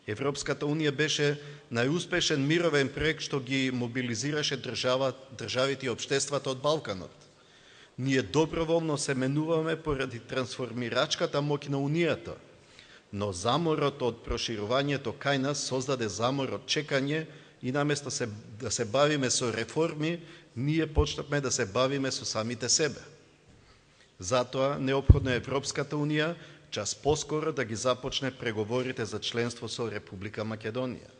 Европската Унија беше најуспешен мировен проект што ги мобилизираше државите и општествата од Балканот. Ние доброволно се менуваме поради трансформирачката моќ на Унијата, но заморот од проширувањето кај нас создаде замор од чекање и наместо да се бавиме со реформи, ние почнавме да се бавиме со самите себе. Затоа неопходно е Европската Унија час поскоро да ги започне преговорите за членство со Република Македонија.